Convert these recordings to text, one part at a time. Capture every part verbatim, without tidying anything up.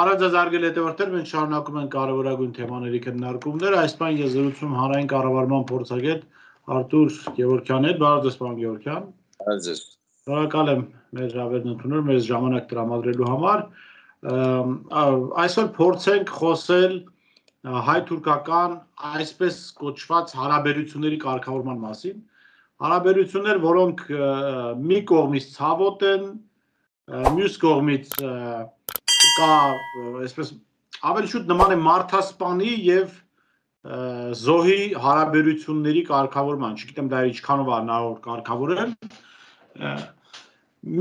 Բարև զարգել հետևորդներ, մենք շարունակում ենք կարևորագույն թեմաների քննարկումները, այս բան ես զրուցում հանրային կառավարման փորձագետ Արտուր Գևորգյանի հետ, բարև ձեզ պարոն Գևորգյան։ Բարև ձեզ։ Շնորհակալ եմ մեր հրավերն ընդունել, մեզ ժամանակ տրամադրելու համար։ Այսօր փորձենք խոսել հայ-թուրքական այսպես կոչված հարաբերությունների կարգավորման մասին։ Հարաբերություններ, որոնք մի կողմից ցավոտ են, մյուս կողմից կա այսպես ավելի շուտ նման է մարդասպանի եւ զոհի հարաբերությունների կարգավորման, չգիտեմ դա ինչքանով է հնարավոր կարգավորել։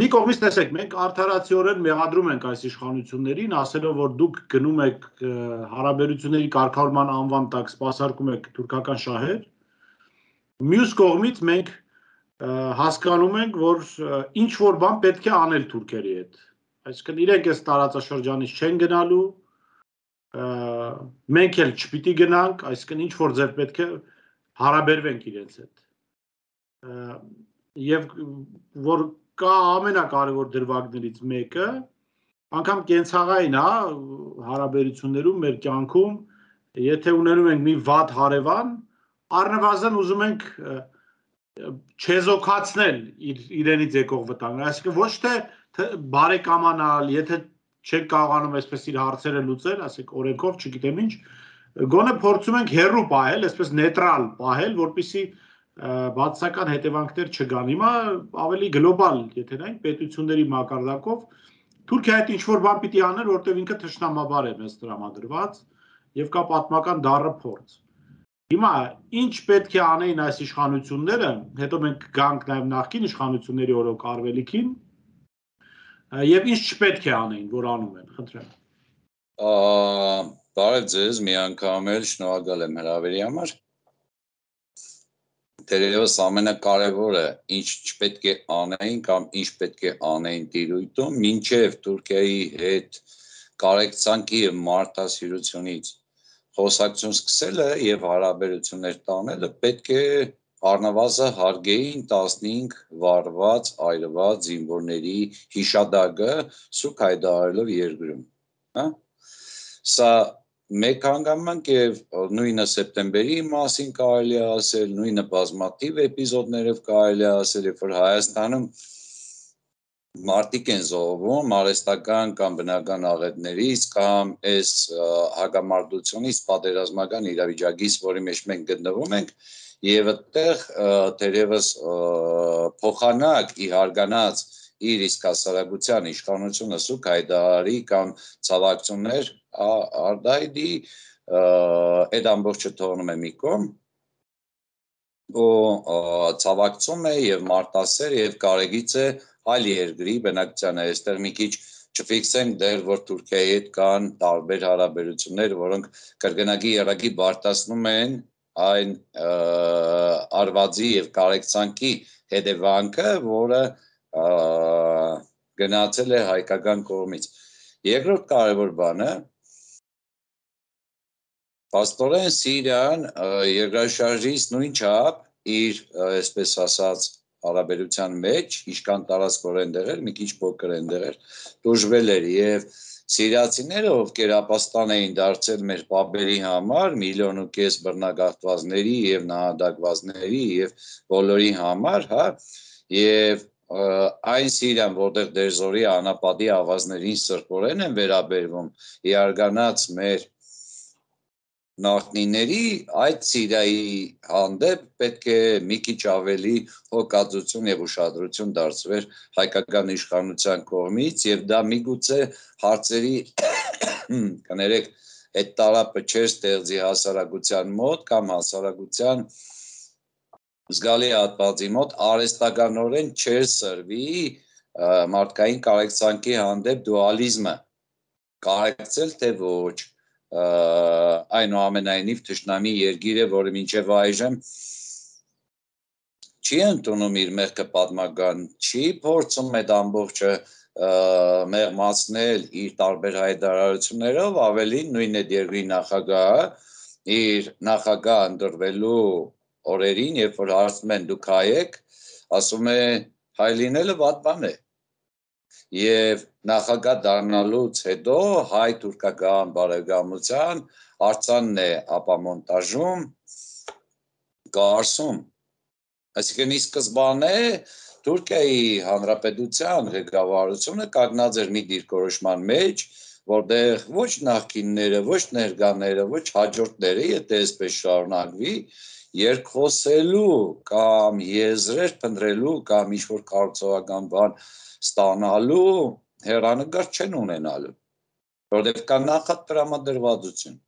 Մի կողմից տեսեք, մենք արդարացիորեն մեղադրում ենք այս իշխանություններին, ասելով, որ դուք գնում եք հարաբերությունների կարգավորման անվան տակ սպասարկում եք թուրքական շահեր։ Մյուս կողմից մենք հասկանում ենք, որ ինչ որ բան պետք է անել թուրքերի հետ։ Այսինքն իրենք այս տարածաշրջանից չեն գնալու, մենք էլ չպիտի գնանք, այսինքն ինչ որ ձև պետք է հարաբերվենք իրենց հետ։ Եվ որ կա ամենակարևոր դրվագներից մեկը, անգամ կենցաղային է հարաբերություններում մեր կյանքում, եթե ունենում ենք մի վատ հարևան, առնվազն ուզում ենք չեզոքացնել իրենից եկող վտանգը, այսինքն ոչ թե բարեկամանալ, եթե չեք կարողանում այսպես իր հարցերը լուծել, ասենք օրենքով, չգիտեմ ինչ, գոնե փորձում ենք հեռու պահել, այսպես նեյտրալ պահել, որպեսզի բացասական հետևանքներ չգան։ Հիմա ավելի գլոբալ, եթե նայենք պետությունների մակարդակով, Թուրքիայի հետ ինչ որ բան պիտի անել, որտեղ ինքը թշնամաբար է մեզ տրամադրված եւ կա պատմական դառը փորձ։ Հիմա ինչ պետք է անեին այս իշխանությունները, հետո մենք գանք նաեւ նախկին իշխանությունների օրոք արվելիքին, եւ ինչ չպետք է անեին, որ անում են, խնդրեմ։ Բարև ձեզ, մի անգամ էլ շնորհակալ եմ հրավերի համար։ Թերևս ամենակարևորը ինչ չպետք է անեին կամ ինչ պետք է անեին տիրույթում, մինչև Թուրքիայի հետ կարեկցանքի եւ մարդասիրությունից խոսակցություն սկսելը եւ հարաբերություններ տանելը պետք է առնվազն հարգեին տասնհինգ վարված, այրված զինվորների հիշադակը սուք հայտարարելով երկրում, հա։ Սա մեկ հանգամանք եւ նույնը սեպտեմբերի մասին կարելի է ասել, նույնը բազմաթիվ էպիզոդներով կարելի է ասել, երբ որ Հայաստանում մարդիկ են զոհվում արհեստական կամ բնական աղետներից կամ այս հակամարտությունից պատերազմական իրավիճակից, որի մեջ մենք գտնվում ենք, եւ այդտեղ թերևս փոխանակ ի հարգանած իր իսկ հասարակության իշխանությունը սուք հայտարարի կամ ցավակցություններ արդայդի այդ ամբողջը թողնում է մի կողմ ու ցավակցում է եւ մարտասեր եւ կարեգից է այլ երկրի բնակչությանը այստեղ մի քիչ չֆիքսենք դեռ որ Թուրքիայի հետ կան տարբեր հարաբերություններ, որոնք կրկնակի երակի բարտացնում են այն արվածի եւ կարեկցանքի հետևանքը, որը գնացել է հայկական կողմից։ Երկրորդ կարևոր բանը Պաստորեն Սիրիան երկրաշարժից նույն չափ իր, այսպես ասած, հարաբերության մեջ, ինչքան տարածքորեն դեղեր, մի քիչ փոքր են դեղեր, դժվել էր եւ սիրիացիները, ովքեր ապաստան էին դարձել մեր պապերի համար, միլիոն ու կես բռնագաղթվածների եւ նահատակվածների եւ բոլորի համար, հա, եւ այն Սիրիան, որտեղ դերձորի անապատի ավազներին սրբորեն են վերաբերվում, իարգանած մեր նախնիների այդ Սիրիայի հանդեպ պետք է մի քիչ ավելի հոգածություն եւ ուշադրություն դարձվեր հայկական իշխանության կողմից եւ դա միգուցե հարցերի կներեք այդ տարապը չէր ստեղծի հասարակության մոտ կամ հասարակության զգալի հատվածի մոտ արհեստականորեն չէր սրվի մարդկային կարեկցանքի հանդեպ դուալիզմը կարեկցել թե ոչ այնուամենայնիվ թշնամի երկիր է, որը մինչև այժմ չի ընդունում իր մեղքը պատմական, չի փորձում այդ ամբողջը մեղմացնել իր տարբեր հայտարարություններով, ավելին նույն այդ երկրի նախագահը իր նախագահ ընտրվելու օրերին, երբ որ հարցնում են դուք հայ եք, ասում է հայ լինելը վատ բան է, Եվ նախագահ դառնալուց հետո հայ-թուրքական բարեկամության արձանն է ապամոնտաժում, կառսում։ Այսինքն ի սկզբանե Թուրքիայի Հանրապետության ղեկավարությունը կանգնած էր մի դիրքորոշման մեջ, որտեղ ոչ նախկինները, ոչ ներկաները, ոչ հաջորդները, եթե այսպես շարունակվի, երկխոսելու կամ եզրեր փնտրելու կամ ինչ-որ կառուցողական բան ստանալու հեռանկար չեն ունենալու, որովհետև կա նախատրամադրվածություն։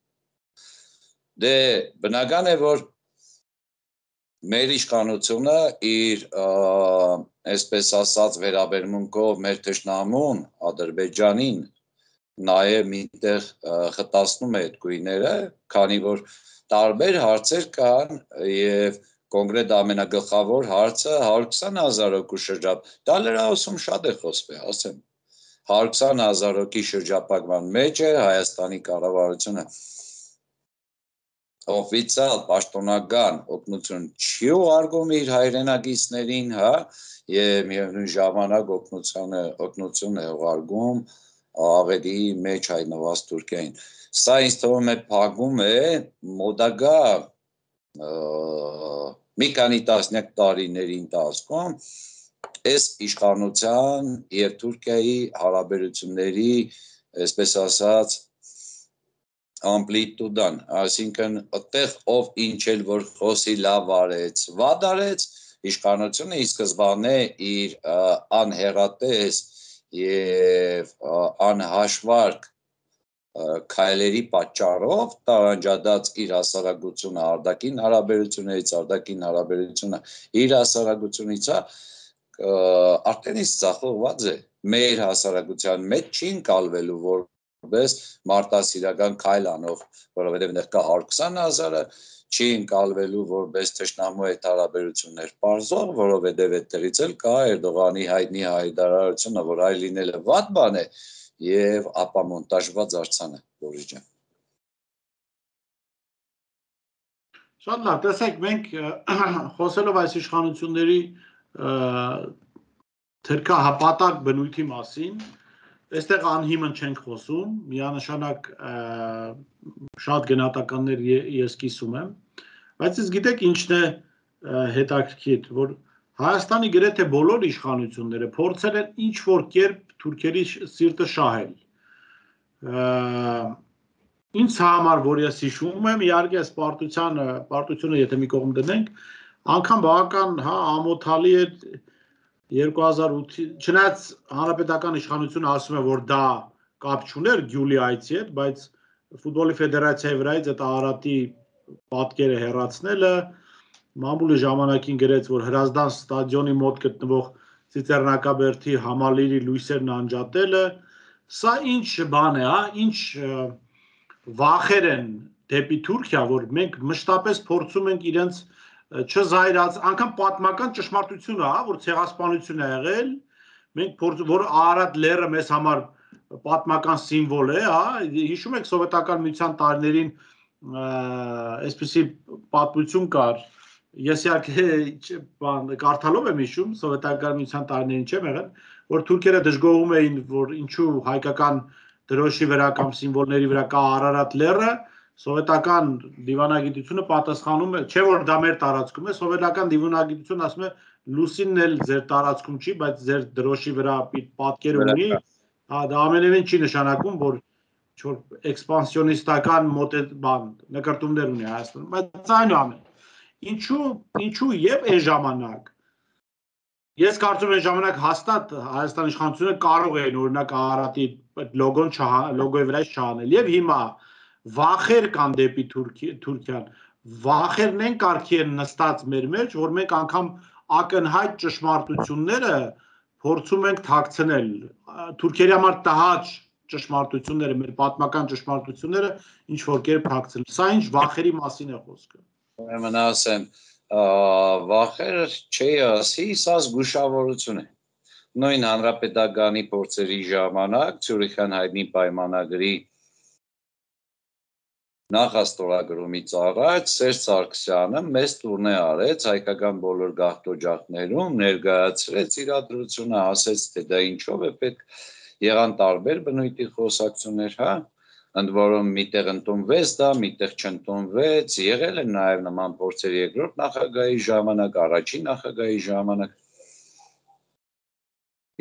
Դե բնական է, որ մեր իշխանությունը իր այսպես ասած վերաբերմունքով մեր թշնամուն Ադրբեջանին նաև միտեղ խտացնում է այդ գույները, քանի որ տարբեր հարցեր կան եւ կոնկրետ ամենագլխավոր հարցը հարյուր քսան հազար հոգու շրջապ, դա լրահոսում շատ է խոսվել, ասեմ, հարյուր քսան հազար հոգի շրջապակման մեջ է Հայաստանի կառավարությունը օֆիցիալ պաշտոնական օգնություն չի ուղարկում իր հայրենակիցներին, հա, եւ միևնույն ժամանակ օգնությունը օգնություն է ուղարկում ավելի մեջ հայտնված Թուրքիային։ Սա ինձ թվում է փակում է մոդագա մի քանի տասնյակ տարիների ընթացքում այս իշխանության եւ Թուրքիայի հարաբերությունների, այսպես ասած, ամպլիտուդան, այսինքն այդտեղ ով ինչ էլ որ խոսի լավ արեց, վատ արեց, իշխանությունը ի սկզբանե իր անհեռատես եւ անհաշվարկ քայլերի պատճառով տարանջատած իր հասարակությունը արտաքին հարաբերություններից, արտաքին հարաբերությունը իր հասարակությունից արդեն իսկ ցախողված է մեր հասարակության մեջ չի ընկալվելու որ որպես մարտահրավերական քայլ անող, որովհետև դեռ կա հարյուր քսան հազարը, չի ընկալվելու որպես թշնամու հետ հարաբերություններ պարզող, որովհետև այդտեղից էլ կա Էրդողանի հայտնի հայտարարությունը, որ այլ լինելը վատ բան է եւ ապամոնտաժված արձան է, Բորիս ջան։ Շատ լավ, տեսեք, մենք խոսելով այս իշխանությունների թերքահապատակ բնույթի մասին, այստեղ անհիմն չենք խոսում, միանշանակ շատ գնահատականներ ես կիսում եմ, բայց ես գիտեք ինչն է հետաքրքիր, որ Հայաստանի գրեթե բոլոր իշխանությունները փորձել են ինչ-որ կերպ թուրքերի սիրտը շահել։ Ինձ համար, որ ես հիշում եմ, իհարկե այս պարտությանը, պարտությունը եթե մի կողմ դնենք, անգամ բավական հա ամոթալի է երկու հազար ութ, չնայած հանրապետական իշխանությունը ասում է, որ դա կապ չուներ Գյուլի այցի հետ, բայց ֆուտբոլի ֆեդերացիայի վրայից այդ Արարատի պատկերը հեռացնելը, մամուլի ժամանակին գրեց, որ Հրազդան ստադիոնի մոտ գտնվող Ծիծեռնակաբերդի համալիրի լույսերն անջատելը, սա ինչ բան է, հա, ինչ վախեր են դեպի Թուրքիա, որ մենք մշտապես փորձում ենք իրենց չզայրած, անգամ պատմական ճշմարտությունը, հա, որ ցեղասպանություն է եղել, մենք փորձում, որ Արարատ լեռը մեզ համար պատմական սիմվոլ է, հա, հիշում եք սովետական միության տարիներին այսպիսի պատմություն կար, ես իհարկե բան կարդալով եմ հիշում, սովետական միության տարիներին չեմ եղել, որ թուրքերը դժգոհում էին, որ ինչու հայկական դրոշի վրա կամ սիմվոլների վրա կա Արարատ լեռը, սովետական դիվանագիտությունը պատասխանում է, չէ որ դա մեր տարածքում է, սովետական դիվանագիտությունը ասում է լուսինն էլ ձեր տարածքում չի, բայց ձեր դրոշի վրա պատկեր ունի, դա ամենևին չի նշանակում, որ ինչ-որ էքսպանսիոնիստական բան, նկրտումներ ունի Հայաստանում, բայց այնուամենայնիվ, ինչու, ինչու եւ այն ժամանակ ես կարծում եմ այն ժամանակ հաստատ Հայաստանի իշխանությունը կարող էին օրինակ Արարատի լոգոն լոգոյի վրա չանել եւ հիմա վախեր կան դեպի Թուրքիան, վախերն են կարգի են նստած մեր մեջ, որ մենք անգամ ակնհայտ ճշմարտությունները փորձում ենք թաքցնել, թուրքերի համար տհաճ ճշմարտությունները, մեր պատմական ճշմարտությունները ինչ որ կերպ թաքցնել, սա ինչ վախերի մասին է խոսքը։ Ուրեմն ասեմ, վախեր չի ասի, սա զգուշավորություն է։ Նույն հանրապետականի փորձերի ժամանակ Ցյուրիխյան հայտնի պայմանագրի նախաստորագրումից առաջ Սերժ Սարգսյանը մեծ տուրնե արեց հայկական բոլոր գաղթօջախներում, ներկայացրեց իրադրությունը, ասեց, թե դա ինչով է պետք, եղան տարբեր բնույթի խոսակցություններ, հա, ընդ որում միտեղ ընդունվեց դա, միտեղ չընդունվեց, եղել են նաև նման փորձեր երկրորդ նախագահի ժամանակ, առաջին նախագահի ժամանակ։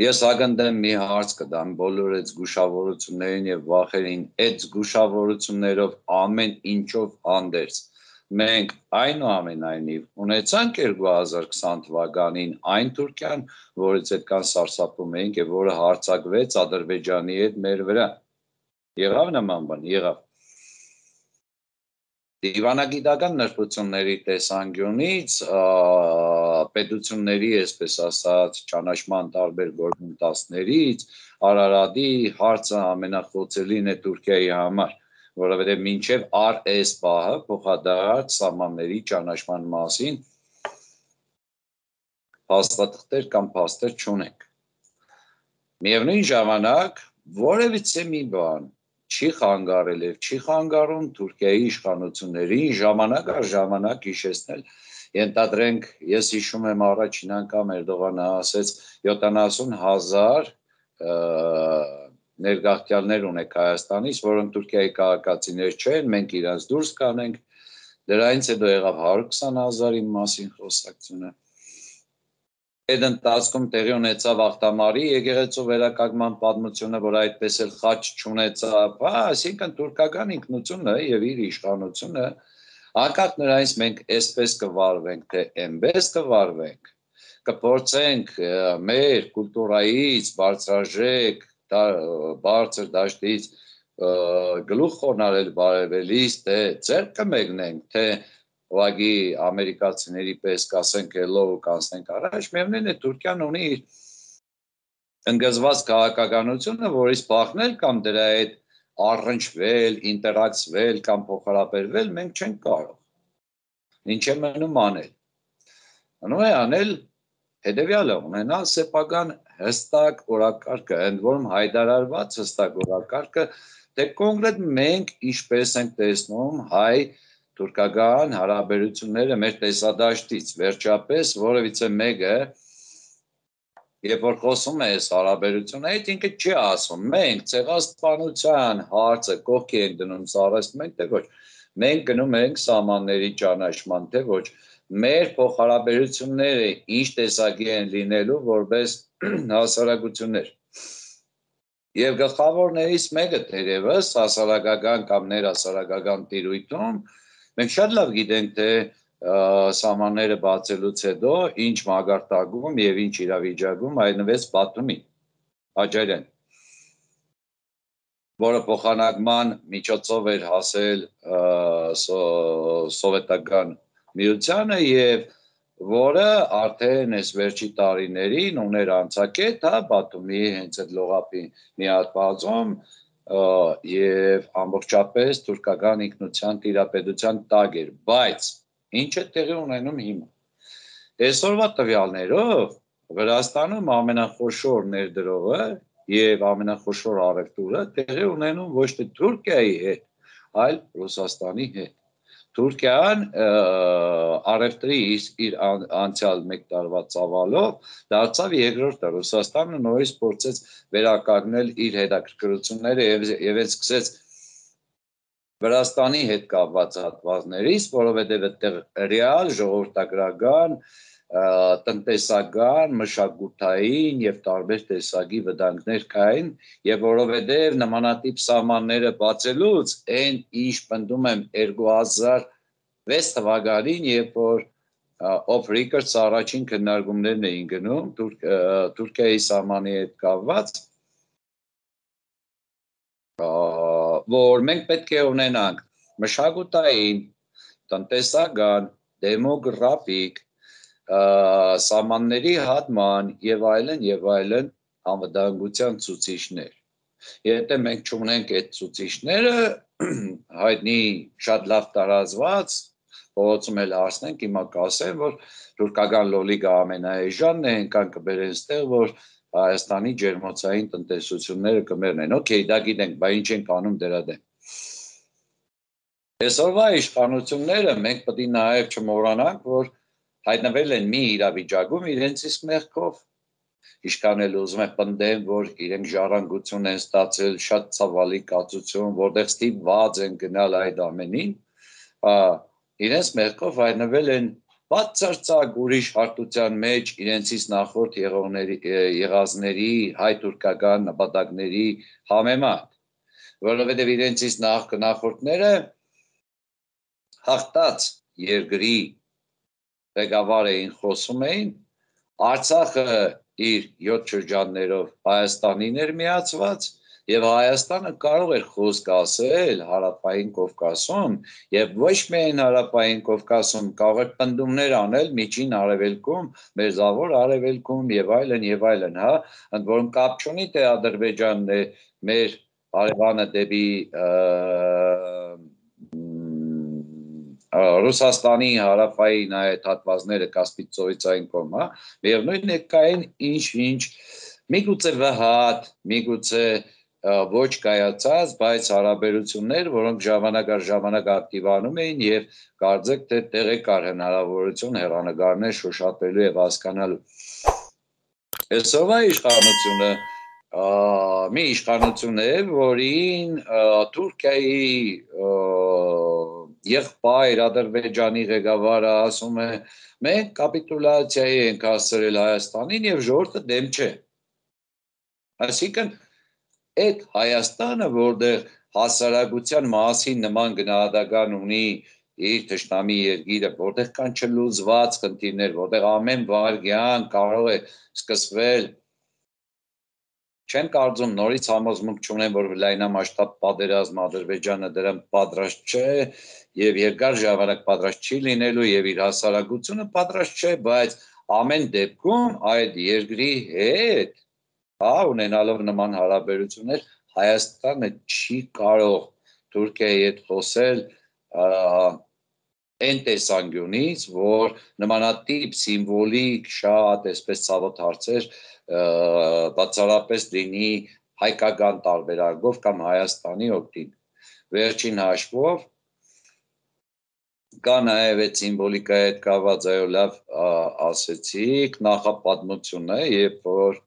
Ես ակնկալեմ մի հարց կտամ բոլոր այդ զգուշավորություններին եւ վախերին, այդ զգուշավորություններով ամեն ինչով հանդերձ մենք այնուամենայնիվ ունեցանք երկու հազար քսան թվականին այն Թուրքիան, որից այդքան սարսափում էինք եւ որը հարձակվեց Ադրբեջանի հետ մեր վրա։ Եղավ նման բան, եղավ։ Դիվանագիտական նրբությունների տեսանկյունից պետությունների, այսպես ասած, ճանաչման տարբեր գործընթացներից Արարատի հարցը ամենախոցելին է Թուրքիայի համար, որովհետև մինչև առ այս պահը փոխադարձ սահմանների ճանաչման մասին փաստաթղթեր կամ փաստեր չունենք։ Միևնույն ժամանակ որևիցե մի բան չի խանգարել եւ չի խանգարում Թուրքիայի իշխանություններին ժամանակ առ ժամանակ հիշեցնել, ենթադրենք, ես հիշում եմ առաջին անգամ Էրդողանը ասեց յոթանասուն հազար ներգաղթյալներ ունեք Հայաստանից, որոնք Թուրքիայի քաղաքացիներ չեն, մենք իրանց դուրս կանենք, դրանից հետո եղավ հարյուր քսան հազարի մասին խոսակցությունը։ Այդ ընթացքում տեղի ունեցավ Աղթամարի եկեղեցու վերականգնման պատմությունը, որ այդպես էլ խաչ չունեցավ, հա, այսինքն թուրքական ինքնությունը եւ իր իշխանությունը, անկախ նրանից մենք այսպես կվարվենք, թե այնպես կվարվենք, կփորձենք մեր կուլտուրայից բարձրաժեք, բարձր դաշտից գլուխ խոնարհել բարևելիս, թե ձեռք կմեկնենք, թե ուղղակի ամերիկացիների պես կասենք hello կանցնենք առաջ, միևնույն է Թուրքիան ունի իր ընկզված քաղաքականությունը, որից բախնել կամ դրա հետ առնչվել, ինտերակցվել կամ փոխհարաբերվել մենք չենք կարող։ Ինչ է մնում անել։ Մնում է անել հետևյալը, ունենալ սեփական հստակ օրակարգը, ընդ որում հայտարարված հստակ օրակարգը, թե կոնկրետ մենք ինչպես ենք տեսնում հայ թուրքական հարաբերությունները մեր տեսադաշտից, վերջապես որևիցե մեկը, երբ որ խոսում է այս հարաբերություններից, ինքը չի ասում, մենք ցեղասպանության հարցը կողքի ենք դնում, սարսում ենք, թե ոչ, մենք գնում ենք սահմանների ճանաչման, թե ոչ, մեր փոխհարաբերությունները ինչ տեսակի են լինելու որպես հասարակություններ։ Եվ գլխավորներից մեկը թերևս հասարակական կամ ներհասարակական տիրույթում մենք շատ լավ գիտենք, թե սահմանները բացելուց հետո ինչ մակարդակում եւ ինչ իրավիճակում հայտնվեց Բաթումի, Աջարյան, որը փոխանակման միջոցով էր հասել սովետական միությանը եւ որը արդեն այս վերջի տարիներին ուներ անցակետ, հա, Բաթումի հենց այդ լողափի մի հատ բազում եւ ամբողջապես թուրքական ինքնության տիրապետության տակ էր, բայց ինչ է տեղի ունենում հիմա։ Այսօրվա տվյալներով Վրաստանում ամենախոշոր ներդրողը եւ ամենախոշոր առևտուրը տեղի ունենում ոչ թե Թուրքիայի հետ, այլ Ռուսաստանի հետ։ Թուրքիան առևտրի իր անցյալ մեկ տարվա ծավալով դարձավ երկրորդը, Ռուսաստանը նորից փորձեց վերականգնել իր հետաքրքրությունները եւ այդ սկսեց Վրաստանի հետ կապված հատվածներից, որովհետեւ այդտեղ ռեալ ժողովրդագրական, տնտեսական, մշակութային եւ տարբեր տեսակի վտանգներ կային եւ որովհետեւ նմանատիպ սահմանները բացելուց այն ինչ պնդում եմ երկու հազար վեց թվականին, երբ որ off records առաջին քննարկումներն էին գնում Թուրքիայի սահմանի հետ կապված, որ մենք պետք է ունենանք մշակութային, տնտեսական, դեմոգրաֆիկ, սահմանների հատման եւ այլն եւ այլն անվտանգության ցուցիչներ։ Եթե մենք չունենք այդ ցուցիչները, հայտնի շատ լավ տարածված, փողոցում էլ հարցնենք, հիմա կասեն, որ թուրքական լոլիկը ամենաէժանն է, այնքան կբերեն ստեղ, որ Հայաստանի ջերմոցային տնտեսությունները կմեռնեն։ Okay, դա գիտենք, բայց ինչ ենք անում դրա դեմ։ Այսօրվա իշխանությունները մենք պետք է նաև չմոռանանք, որ հայտնվել են մի իրավիճակում իրենց իսկ մեղքով։ Իշխանել ուզում են պնդեն, որ իրենք ժառանգություն են ստացել, շատ ցավալի կացություն, որտեղ ստիպված են գնալ այդ ամենին, իրենց մեղքով հայտնվել են բացարձակ ուրիշ հարթության մեջ իրենցից նախորդ եղածների հայ-թուրքական նպատակների համեմատ, որովհետև իրենցից նախորդները հաղթած երկրի ղեկավար էին, խոսում էին, Արցախը իր յոթ շրջաններով Հայաստանին էր միացված եւ Հայաստանը կարող էր խոսք ասել Հարավային Կովկասում եւ ոչ միայն Հարավային Կովկասում, կարող էր պնդումներ անել Միջին Արևելքում, Մերձավոր Արևելքում եւ այլն եւ այլն, հա, ընդ որում կապ չունի թե Ադրբեջանն է մեր հարևանը դեպի Ռուսաստանի հարավային այդ հատվածները Կասպից ծովից կողմ, հա, միևնույնն է կային ինչ-ինչ, միգուցե վհատ, միգուցե ոչ կայացած, բայց հարաբերություններ, որոնք ժամանակ առ ժամանակ ակտիվանում էին եւ կարծեք թե տեղի կար հնարավորություն հեռանկարներ շոշափելու եւ հասկանալու։ Այսօրվա իշխանությունը մի իշխանություն է, որին Թուրքիայի եղբայր Ադրբեջանի ղեկավարը ասում է մենք կապիտուլյացիայի ենք հասցրել Հայաստանին եւ ժողովուրդը դեմ չէ։ Այսինքն այդ Հայաստանը, որտեղ հասարակության մասին նման գնահատական ունի իր թշնամի երկիրը, որտեղ կան չլուծված խնդիրներ, որտեղ ամեն վայրկյան կարող է սկսվել, չեմ կարծում նորից համոզմունք չունեմ, որ լայնամասշտաբ պատերազմ Ադրբեջանը դրան պատրաստ չէ եւ երկար ժամանակ պատրաստ չի լինելու եւ իր հասարակությունը պատրաստ չէ, բայց ամեն դեպքում այդ երկրի հետ, հա, ունենալով նման հարաբերություններ, Հայաստանը չի կարող Թուրքիայի հետ խոսել այն տեսանկյունից, որ նմանատիպ սիմվոլիկ շատ այսպես ցավոտ հարցեր բացառապես լինի հայկական տարբերակով կամ Հայաստանի օգտին։ Վերջին հաշվով կա նաև այդ սիմվոլիկայի հետ կապված, այո, լավ ասեցիք, նախապատմությունը, երբ որ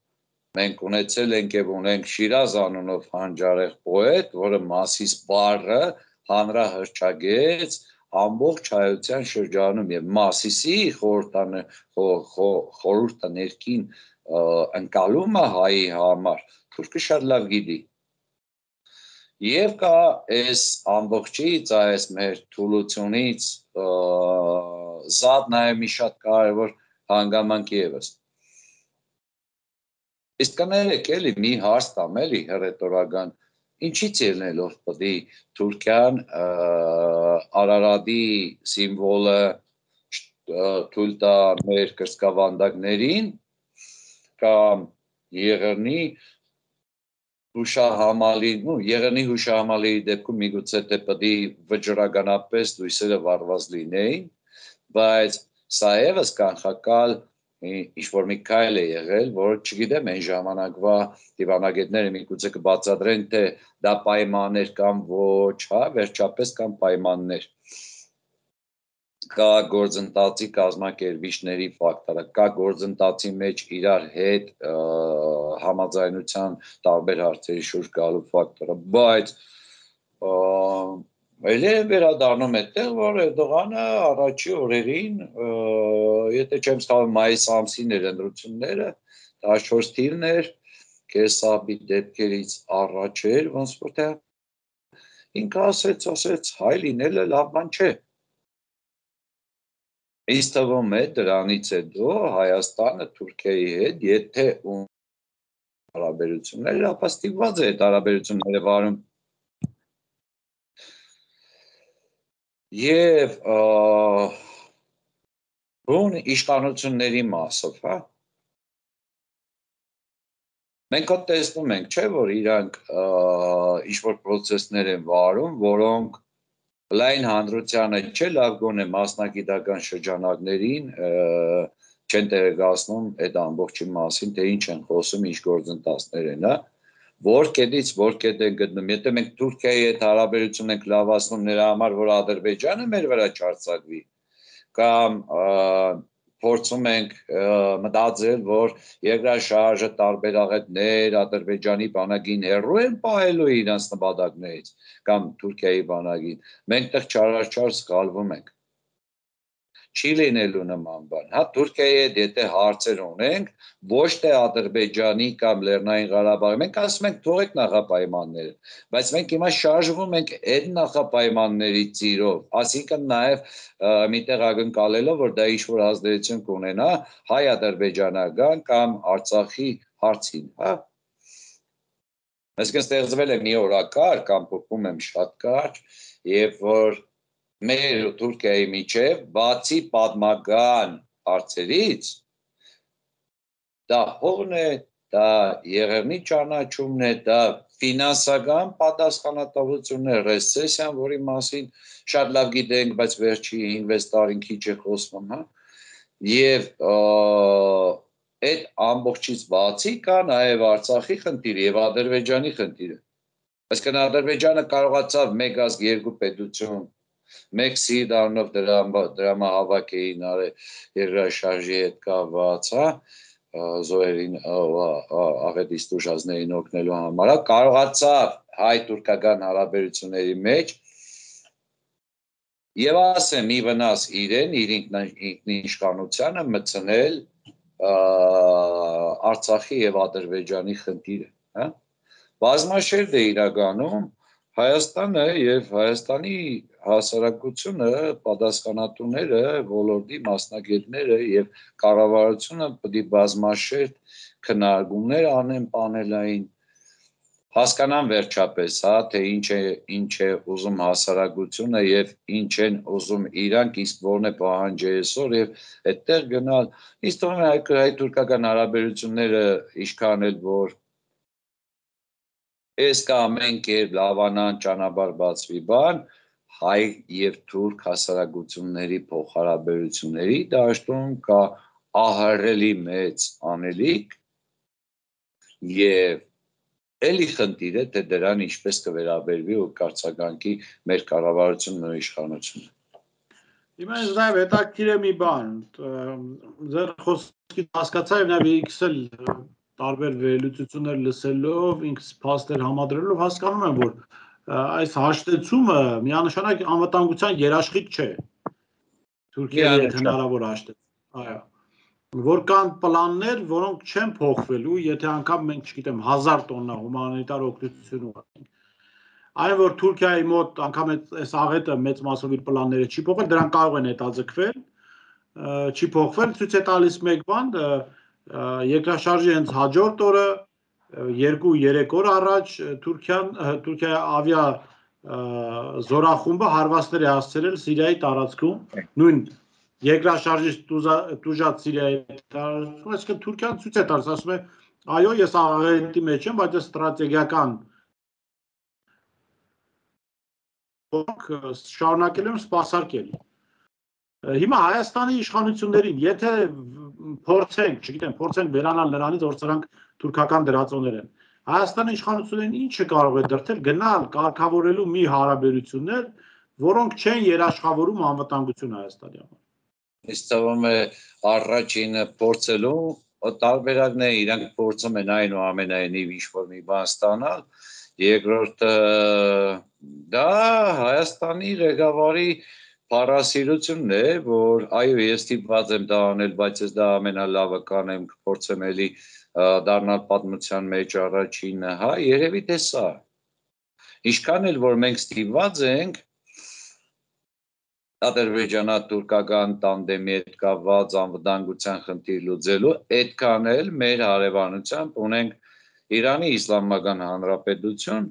մենք ունեցել ենք եւ ունենք Շիրազ անունով հանճարեղ պոետ, որը Մասիս բառը հանրահռչակեց ամբողջ հայության շրջանում եւ Մասիսի խորհուրդը ներքին ընկալումը հայի համար թուրքը շատ լավ գիտի։ Եվ կա այս ամբողջից, այս մեր թուլությունից զատ նաև մի շատ կարևոր հանգամանք ևս։ Իսկ կներեք էլի մի հարց տամ էլի հռետորական, ինչից ելնելով պետք է Թուրքիան Արարատի սիմվոլը թույլ տա մեր կրծքավանդակներին կամ Եղեռնի հուշահամալի, ну, Եղեռնի հուշահամալի դեպքում միգուցե թե պետք է վճռականապես լույսերը վառված լինեին, բայց սա ևս կանխակալ ինչ-որ մի քայլ է եղել, որ չգիտեմ այն ժամանակվա դիվանագետները միգուցե կբացատրեն, թե դա պայմաններ կամ ոչ, հա, վերջապես կամ պայմաններ։ Կա գործընթացի կազմակերպիչների ֆակտորը, կա գործընթացի մեջ իրար հետ համաձայնության տարբեր հարցերի շուրջ գալու ֆակտորը, բայց Էլի վերադառնում է տեղ, որ Էրդողանը առաջի օրերին, եթե չեմ սխալվում, մայիս ամսին էր ընտրությունները, տասնչորս թիվն էր, կեսաբի դեպքերից առաջ էր, ոնց որ թե ինքը ասեց, ասեց, հայ լինելը լավ բան չէ։ Ինձ թվում է դրանից հետո Հայաստանը Թուրքիայի հետ, եթե հարաբերություններ, ապա ստիպված է այդ հարաբերությունները վարում։ Եվ բուն իշխանությունների մասով, հա։ Մենք հատ տեսնում ենք, չէ, որ իրանք ինչ-որ պրոցեսներ են վարում, որոնք լայն հանրությանը չէ, լավ գոնե մասնագիտական շրջանակներին չեն տեղեկացնում այդ ամբողջի մասին, թե ինչ են խոսում, ինչ գործընթացներ են, հա։ որ կետից որ կետ են գտնում, եթե մենք Թուրքիայի հետ հարաբերություն ենք լավացնում նրա համար, որ Ադրբեջանը մեր վրա չարձակվի, կամ փորձում ենք մտածել, որ երկրաշարժը տարբեր աղետներ Ադրբեջանի բանակին հեռու են պահելու իրենց նպատակներից, կամ Թուրքիայի բանակին, մենք տեղ չարաչար սխալվում ենք։ Չի լինելու նման բան, հա Թուրքիայի հետ եթե հարցեր ունենք, ոչ թե Ադրբեջանի կամ Լեռնային Ղարաբաղի, մենք ասում ենք թողեք նախապայմանները, բայց մենք հիմա շարժվում ենք այդ նախապայմանների ծիրով, այսինքն նաև միտեղ ակնկալելով, որ դա ինչ-որ ազդեցություն կունենա հայ-ադրբեջանական կամ Արցախի հարցին, հա։ Այսինքն ստեղծվել է մի օրակարգ, կամ փոխում եմ շատ կարճ, երբ որ մեր ու Թուրքիայի միջև բացի պատմական հարցերից դա հողն է, դա եղեռնի ճանաչումն է, դա ֆինանսական պատասխանատվությունն է, ռեսեսիան, որի մասին շատ լավ գիտենք, բայց վերջի հինգ-վեց տարին քիչ է խոսվում, հա։ Եվ այդ ամբողջից բացի կա նաև Արցախի խնդիրը եւ Ադրբեջանի խնդիրը։ Այսինքն Ադրբեջանը կարողացավ մեկ ազգ երկու պետություն մեկ սիրտ առնով դրամահավաք էին արել երկրաշարժի հետ կապված, հա, զոհերին աղետից տուժածներին օգնելու համար, կարողացավ հայ-թուրքական հարաբերությունների մեջ եւ ասեմ ի վնաս իրեն, իր ինքնիշխանությանը մտցնել Արցախի եւ Ադրբեջանի խնդիրը, հա։ Բազմաշերտ է իրականում Հայաստանը եւ Հայաստանի հասարակությունը, պատասխանատուները, ոլորտի մասնագետները եւ կառավարությունը պետք է բազմաշերտ քննարկումներ անեն պանելային, հասկանան վերջապես, հա, թե ինչ է ինչ է ուզում հասարակությունը եւ ինչ են ուզում իրանք, իսկ որն է պահանջը այսօր եւ այդտեղ գնալ։ Ինձ թվում է հայ-թուրքական հարաբերությունները ինչքան էլ որ Այս կա ամեն կերպ լավանան ճանապարհ բացվի բան, հայ եւ թուրք հասարակությունների փոխհարաբերությունների դաշտում կա ահռելի մեծ անելիք եւ էլի խնդիր է թե դրան ինչպես կվերաբերվի ու կարծականքի մեր կառավարությունն ու իշխանությունը։ Հիմա ինձ նաև հետաքրքիր է մի բան, ձեր խոսքից հասկացա եւ նաև իքսել տարբեր վերլուծություններ լսելով, ինքս փաստեր համադրելով հասկանում եմ, որ այս հաշտեցումը միանշանակ անվտանգության երաշխիք չէ։ Թուրքիայի հետ հնարավոր հաշտեցում։ Այո։ Որ կան պլաններ, որոնք չեն փոխվելու, եթե անգամ մենք, չգիտեմ, հազար տոննա հումանիտար օգնություն ունենք։ Այն որ Թուրքիայի մոտ անգամ այս աղետը մեծ մասով իր պլանները չի փոխել, դրան կարող են հետաձգվել, չի փոխվել, ցույց է տալիս մեկ բան, երկրաշարժի հենց հաջորդ օրը երկու-երեք օր առաջ Թուրքիան Թուրքիայի ավիա զորախումբը հարվածներ է հասցրել Սիրիայի տարածքում, նույն երկրաշարժից տուժած Սիրիայի տարածքում, այսինքն Թուրքիան ցույց է տալիս, ասում է, այո, ես աղետի մեջ եմ, բայց ստրատեգիական շարունակել եմ սպասարկել։ Հիմա Հայաստանի իշխանություններին, եթե փորձենք, չգիտեմ, փորձենք վերանալ նրանից, որ սրանք թուրքական դրածոներ են, Հայաստանի իշխանություններին ինչը կարող է դրդել գնալ կարգավորելու մի հարաբերություններ, որոնք չեն երաշխավորում անվտանգություն Հայաստանի համար։ Ինձ թվում է առաջինը փորձելու տարբերակն է, իրանք փորձում են այնուամենայնիվ ինչ-որ մի բան ստանալ, երկրորդը դա Հայաստանի ղեկավարի փառասիրությունն է, որ այո, ես ստիպված եմ դա անել, բայց ես դա ամենալավը կանեմ, կփորձեմ էլի դառնալ պատմության մեջ առաջինը, հա, երևի թե սա։ Ինչքան էլ որ մենք ստիպված ենք ադրբեջանա-թուրքական տանդեմի հետ կապված անվտանգության խնդիր լուծելու, այդքան էլ մեր հարևանությամբ ունենք Իրանի Իսլամական Հանրապետություն,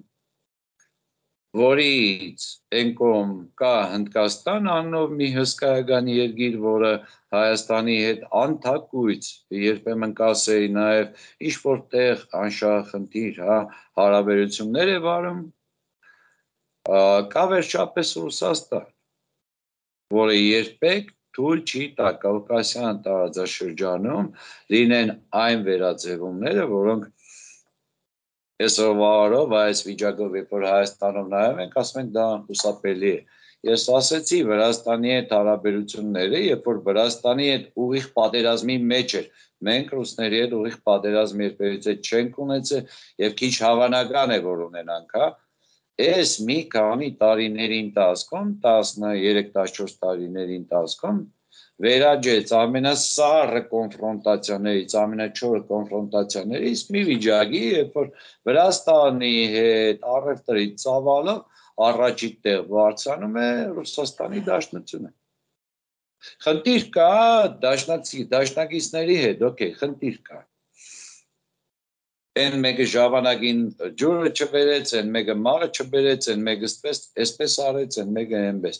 որից այն կողմ կա Հնդկաստան անունով մի հսկայական երկիր, որը Հայաստանի հետ անթակույց երբեմն կասեի նաև ինչ-որ տեղ անշահախնդիր, հա, հարաբերություններ է վարում, կա վերջապես Ռուսաստան, որը երբեք թույլ չի տա Կովկասյան տարածաշրջանում լինեն այն վերաձևումները, որոնք Այսօրվա օրով այս վիճակով երբ որ Հայաստանում նայում ենք, ասում ենք դա խուսափելի է։ Ես ասեցի Վրաստանի հետ հարաբերությունները, երբ որ Վրաստանի հետ ուղիղ պատերազմի մեջ էր, մենք ռուսների հետ ուղիղ պատերազմի երբևիցե չենք ունեցել եւ քիչ հավանական է որ ունենանք, հա։ Այս մի քանի տարիների ընթացքում, տասներեք տասնչորս տարիների ընթացքում վերաճեց ամենասառը կոնֆրոնտացիաներից, ամենաչորը կոնֆրոնտացիաներից մի վիճակի, երբ որ Վրաստանի հետ առևտրի ծավալը առաջի տեղ բարձրանում է Ռուսաստանի Դաշնությունը։ Խնդիր կա դաշնակիցների հետ, օքեյ, խնդիր կա։ Են մեկը ժամանակին ջուրը չբերեց, են մեկը մաղը չբերեց, են մեկը այսպես արեց, են մեկը այնպես։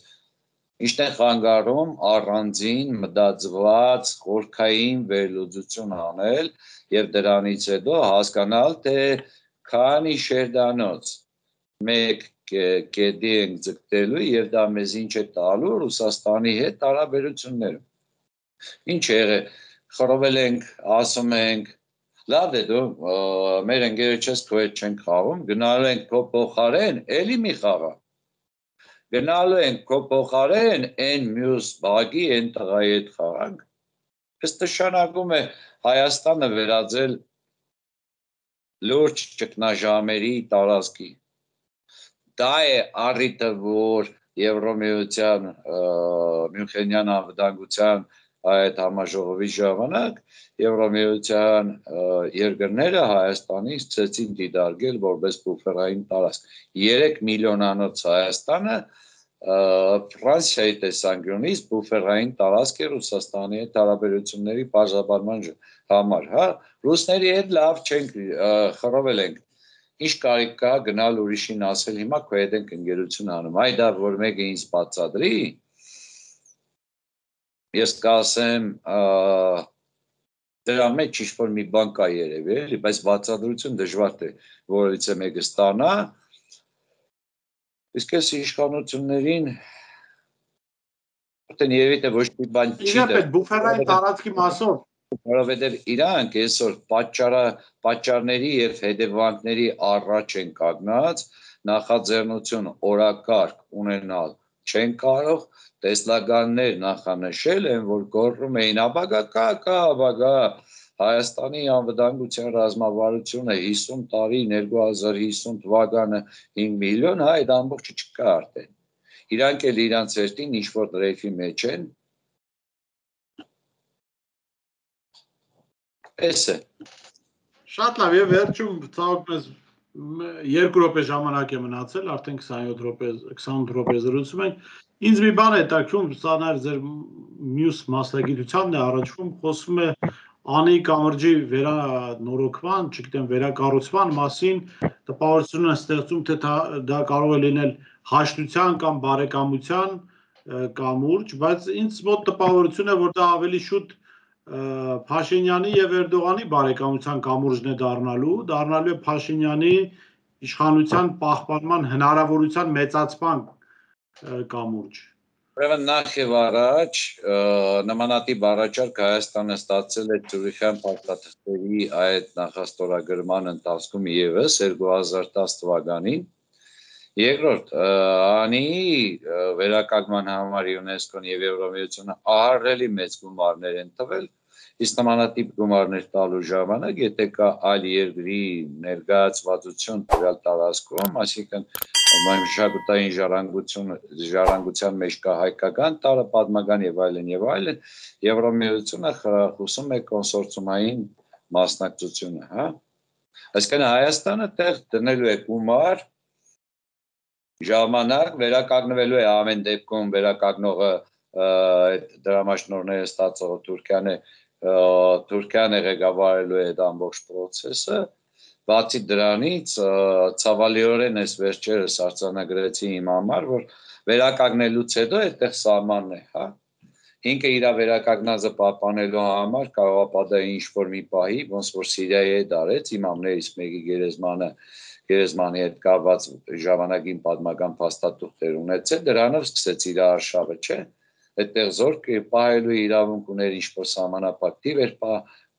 Ինչն է խանգարում առանձին մտածված խորքային վերլուծություն անել եւ դրանից հետո հասկանալ, թե քանի շերտանոց մեկ կետի ենք ձգտելու եւ դա մեզ ինչ է տալու Ռուսաստանի հետ հարաբերություններում։ Ինչ է եղել, խռովել ենք, ասում ենք, լավ է դու մեր ընկերը չես քո հետ չենք խաղում, գնալու ենք քո փոխարեն, էլի մի խաղա։ Գնալու ենք քո փոխարեն այն մյուս բակի, այն տղայի հետ խաղանք։ Այս նշանակում է Հայաստանը վերածել լուրջ ճգնաժամերի տարածքի։ Դա է առիթը, որ Եվրոմիության Մյունխենյան անվտանգության այդ համաժողովի ժամանակ Եվրոմիության երկրները Հայաստանի սկսեցին դիտարկել որպես բուֆերային տարածք։ երեք միլիոնանոց Հայաստանը Ֆրանսիայի տեսանկյունից բուֆերային տարածք է Ռուսաստանի հետ հարաբերությունների բաժանման համար, հա, ռուսների հետ լավ չենք խռովել ենք։ Ինչ կարիք կա գնալ ուրիշին ասել հիմա քո հետ ենք ընկերություն անում։ Այ դա որ մեկը ինձ բացատրի, ես կասեմ դրա մեջ ինչ-որ մի բան կա երևի, էլի, բայց բացատրություն դժվար է որից է մեկը ստանա։ Իսկ այս իշխանություններին Որտեն երևի թե ոչ մի բան չի դեռ։ Իհարկե բուֆերային տարածքի մասով, որովհետև իրանք այսօր պատճառը պատճառների եւ հետևանքների առաջ են կանգնած, նախաձեռնություն օրակարգ ունենալ չեն կարող, տեսլականներ նախանշել են, որ գոռում էին ապագա կա, կա ապագա Հայաստանի անվտանգության ռազմավարությունը հիսուն տարի, երկու հազար հիսուն թվականը հինգ միլիոն, հա, այդ ամբողջը չկա արդեն։ Իրանք էլ իրանց երթին ինչ-որ դրեյֆի մեջ են։ Էս է։ Շատ լավ, եւ վերջում ցավոք մեզ երկու րոպե ժամանակ է մնացել, արդեն քսանյոթ րոպե, քսանութ րոպե զրուցում ենք։ Ինձ մի բան է հետաքրքրում, սա նաեւ ձեր մյուս մասնագիտությանն է առաջվում, խոսվում է Անի կամրջի վերանորոգման, չգիտեմ, վերակառուցման մասին տպավորություն է ստեղծում, թե դա կարող է լինել հաշտության կամ բարեկամության կամուրջ, բայց ինձ մոտ տպավորություն է, որ դա ավելի շուտ Փաշինյանի եւ Էրդողանի բարեկամության կամուրջն է դառնալու, դառնալու է Փաշինյանի իշխանության պահպանման հնարավորության մեծացման կամուրջ։ Ուրեմն նախ եւ առաջ նմանատիպ առաջարկ Հայաստանը ստացել է Ցյուրիխյան փաստաթղթերի այդ նախաստորագրման ընթացքում եւս երկու հազար տասը թվականին։ Երկրորդ, անի վերականգնման համար ՅՈՒՆԵՍԿՕ-ն եւ Եվրոմիությունը ահռելի մեծ գումարներ են տվել, իսկ նմանատիպ գումարներ տալու ժամանակ, եթե կա այլ երկրի ներկայացվածություն տվյալ տարածքում, այսինքն մշակութային ժառանգություն, ժառանգության մեջ կա հայկական տարը, պատմական եւ այլն եւ այլն, Եվրոմիությունը խրախուսում է կոնսորցիումային մասնակցությունը, հա։ Այսինքն Հայաստանը տեղ դնելու է գումար, ժամանակ վերականգնվելու է ամեն դեպքում վերականգնողը այդ դրամաշնորհները ստացողը Թուրքիան է, Թուրքիան է ղեկավարելու է այդ ամբողջ process-ը, բացի դրանից ցավալիորեն այս վերջերս արձանագրեցի իմ համար, որ վերականգնելուց հետո այդտեղ սահմանն է, հա։ Ինքը իր վերականգնածը պահպանելու համար կարող է պատահի ինչ-որ մի պահի, ոնց որ Սիրիայի հետ արեց, իմամներից մեկի գերեզմանը գերեզմանի հետ կապված ժամանակին պատմական փաստաթուղթեր ունեցել, դրանով սկսեց իր արշավը, չէ։ Այդտեղ զորք պահելու իրավունք ուներ ինչ-որ սահմանափակ թիվ էր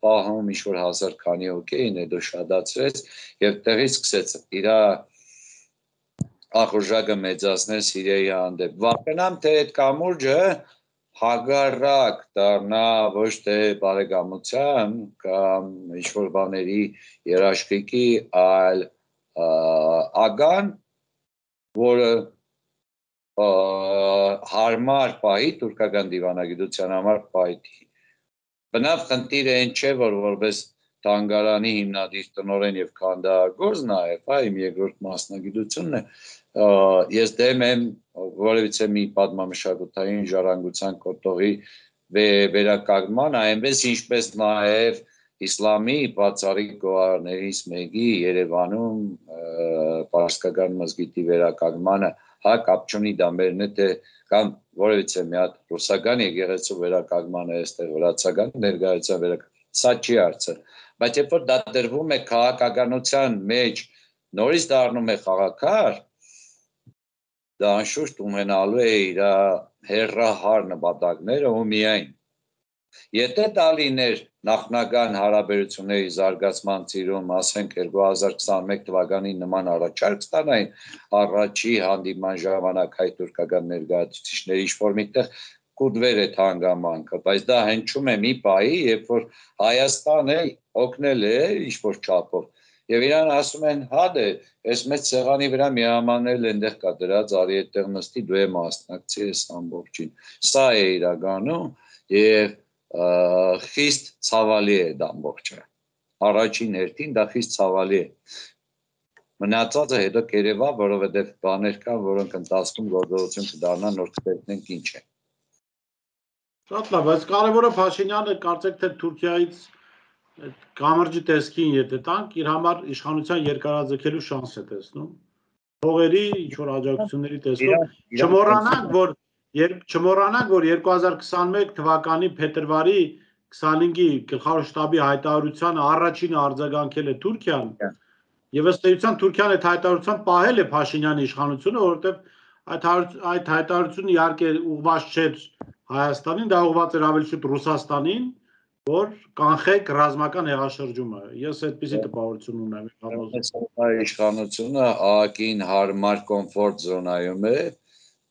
պահում ինչ-որ հազար քանի հոգեին հետո շատացրեց և տեղից սկսեց իր ախորժակը մեծացնել Սիրիայի հանդեպ։ Վախենամ, թե այդ կամուրջը հագարակ դառնա ոչ թե բարեկամության կամ ինչ-որ բաների երաշխիքի, այլ ագան, որը հարմար պահի թուրքական դիվանագիտության համար պահի։ Բնավ խնդիրը այն չէ, որ որպես թանգարանի հիմնադիր տնօրեն և քանդակագործ նաև, իմ երկրորդ մասնագիտությունն է, ես դեմ եմ որևիցե մի պատմամշակութային ժառանգության կոթողի վերականգնման, այնպես ինչպես նաև իսլամի բացառիկ գոհարներից մեկի Երևանում պարսկական մզգիթի վերականգնմանը, հա կապ չունի դա մերն է, թե կամ որևիցե մի հատ ռուսական եկեղեցու վերականգնմանը, այստեղ վրացական ներկայության վերականգնմանը, սա չի հարցը, բայց երբ որ դա դրվում է քաղաքականության մեջ, նորից դառնում է խաղաքար, դա անշուշտ ունենալու է իր հեռահար նպատակները ու միայն։ Եթե դա լիներ նախնական հարաբերությունների զարգացման ծիրում, ասենք երկու հազար քսանմեկ թվականի նման առաջարկ ստանային առաջի հանդիպման ժամանակ հայ-թուրքական ներկայացուցիչների ինչ-որ միտեղ կուտվեր այդ հանգամանքը, բայց դա հնչում է մի պահի, երբ որ Հայաստանը օգնել է ինչ-որ չափով, և իրան ասում են, հա դե, այս մեծ սեղանի վրա միամանել այնտեղ կա դրած, արի այդտեղ նստի, դու է մասնակցի այս ամբողջին։ Սա է իրականում և խիստ ցավալի է դա ամբողջը։ Առաջին հերթին դա խիստ ցավալի է։ Մնացածը հետո կերևա, որովհետև բաներ կան, որոնք ընթացքում գործողություն կդառնան, որ կտեսնենք ինչ է։ Շատ լավ, բայց կարևորը Փաշինյանը կարծեք թե Թուրքիայից կամրջի տեսքին եթե տանք, իր համար իշխանության երկարաձգելու շանս է տեսնում։ Փողերի, ինչ-որ աջակցությունների տեսքով, չմոռանանք, որ չմոռանանք, որ երկու հազար քսանմեկ թվականի փետրվարի քսանհինգի գլխավոր շտաբի հայտարարությանը առաջինը արձագանքել է Թուրքիան, եւ ըստ էության Թուրքիան այդ հայտարարության պահել է Փաշինյանի իշխանությունը, որովհետեւ այդ հայտարարությունը իհարկե ուղղված չէր Հայաստանին, դա ուղղված էր ավելի շուտ Ռուսաստանին, որ կանխեք ռազմական հեղաշրջումը։ Ես այդպիսի տպավորություն ունեմ։ Իշխանությունը ԱԱԿ-ին հարմար կոմֆորտ զոնայում է,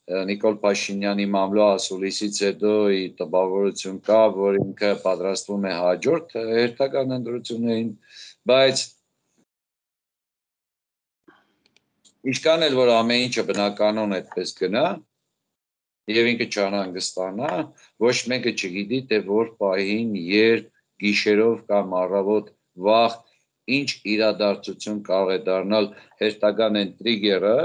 Նիկոլ Փաշինյանի մամլո ասուլիսից հետո տպավորություն կա, որ ինքը պատրաստվում է հաջորդ հերթական ընտրություններին, բայց ինչքան էլ որ ամեն ինչը բնականon այդպես գնա, և ինքը չանհանգստանա, ոչ մեկը չգիտի, թե որ պահին, երբ, գիշերով կամ առավոտ վաղ ինչ իրադարձություն կարող է դառնալ հերթական այն տրիգերը,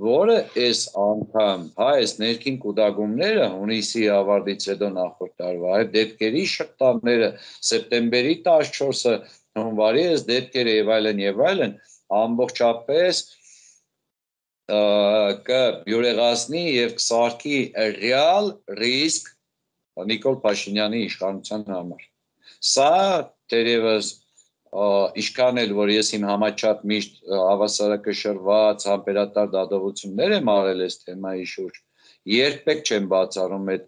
որը այս անգամ, հա, այս ներքին կուտակումները հունիսի ավարտից հետո նախորդ տարվա, այդ դեպքերի շղթաները, սեպտեմբերի տասնչորսը, հունվարի այս դեպքերը եւ այլն եւ այլն, ամբողջապես կբյուրեղացնի և կսարքի ռեալ ռիսկ Նիկոլ Փաշինյանի իշխանության համար։ Սա թերևս ինչքան էլ որ ես իմ համաչափ միշտ հավասարակշռված համբերատար դատողություններ եմ արել այս թեմայի շուրջ, երբեք չեմ բացառում այդ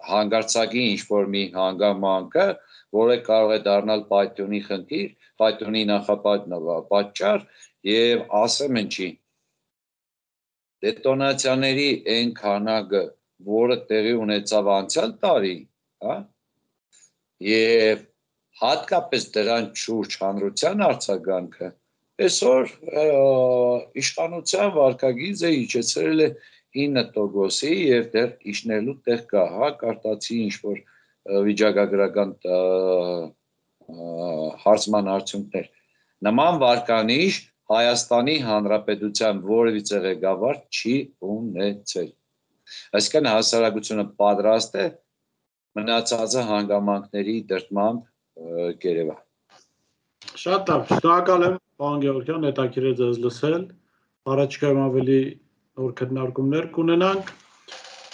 հանգարցակի ինչ-որ մի հանգամանքը, որը կարող է դառնալ պայթյունի խնդիր, պայթյունի նախապատճառ և ասեմ ինչի, դետոնացիաների այն քանակը, որը տեղի ունեցավ անցյալ տարի, և հատկապես դրան շուրջ հանրության արձագանքը, այսօր իշխանության վարքագիծը իջեցրել է ինը տոկոսի և դեռ իջնելու տեղ կա, հա, կարտացի ինչ-որ վիճակագրական հարցման արդյունքներ։ Նման վարկանիշ Հայաստանի Հանրապետության որևիցե ղեկավար չի ունեցել։ Այսինքն հասարակությունը պատրաստ է մնացածը հանգամանքների դրդմամբ կերևա։ Շատ լավ, շնորհակալ եմ, պարոն Գևորգյան, հետաքրքիր է ձեզ լսել, առաջիկայում ավելի նոր քննարկումներ կունենանք։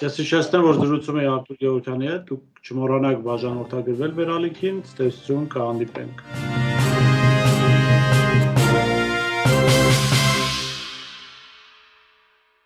Ես հիշեցնեմ, որ զրուցում էի Արտուր Գևորգյանի հետ, դուք չմոռանաք բաժանորդագրվել վերալիքին, ցտեսություն, կհանդիպենք։